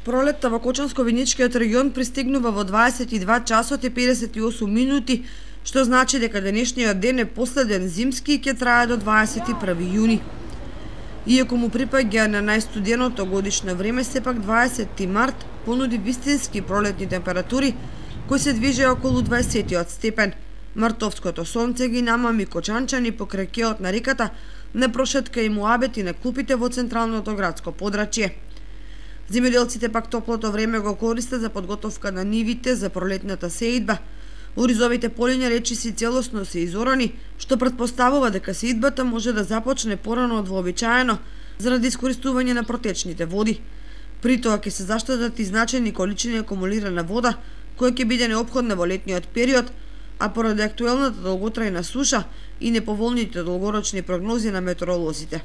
Пролетта во Кочанско-Виничкиот регион пристигнува во 22 часот и 58 минути, што значи дека денешниот ден е последен зимски и ќе трае до 21 јуни. Иако му припаѓа на најстуденото годишно време, сепак 20 март понуди вистински пролетни температури кои се движеа околу 20 степен. Мартовското сонце ги намами кочанчани покрај кеот на реката, на прошетка и муабети на клупите во централното градско подрачје. Земјоделците пак топлото време го користат за подготовка на нивите за пролетната сеидба. Оризовите полиња речиси целосно се изорани, што претпоставува дека сеидбата може да започне порано од вообичаено заради искористување на протечните води. При тоа ќе се заштедат и значајни количини акумулирана вода, која ќе биде неопходна во летниот период, а поради актуелната долготрајна суша и неповолните долгорочни прогнози на метеоролозите.